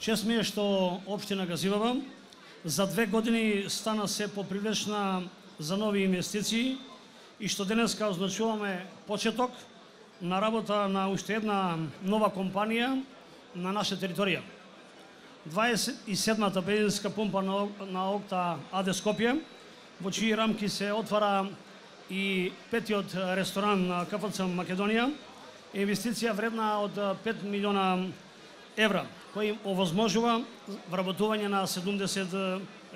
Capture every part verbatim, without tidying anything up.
Чест ми е што општина Газиваба за две години стана се попривлечна за нови инвестиции и што денеска означуваме почеток на работа на уште една нова компанија на наша територија. дваесет и седмата бензинска пумпа на, на Окта АД Скопје, во чии рамки се отвара и петиот ресторан на КФЦ Македонија, инвестиција вредна од пет милиона евра, кој им овозможува вработување на седумдесет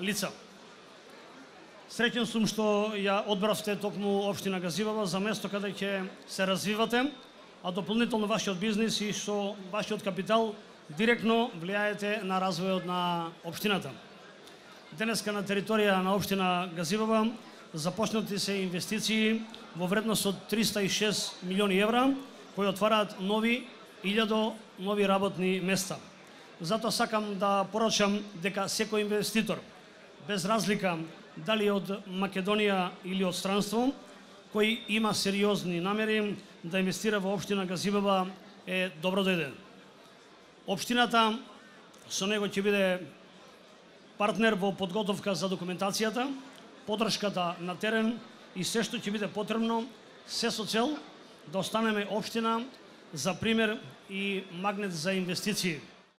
лица. Среќен сум што ја одбравте токму општина Газиваба за место каде ќе се развивате, а дополнително вашиот бизнис и со вашиот капитал директно влијаете на развојот на општината. Денеска на територија на општина Газиваба започнати се инвестиции во вредност од триста и шест милиони евра, кои отвараат нови илјада нови работни места. Затоа сакам да порачам дека секој инвеститор, без разлика дали од Македонија или од странство, кој има сериозни намери да инвестира во општина Газиваба, е добро дојден. Општината со него ќе биде партнер во подготовка за документацијата, поддршката на терен и се што ќе биде потребно, се со цел да останеме општина за пример и магнет за инвестиции.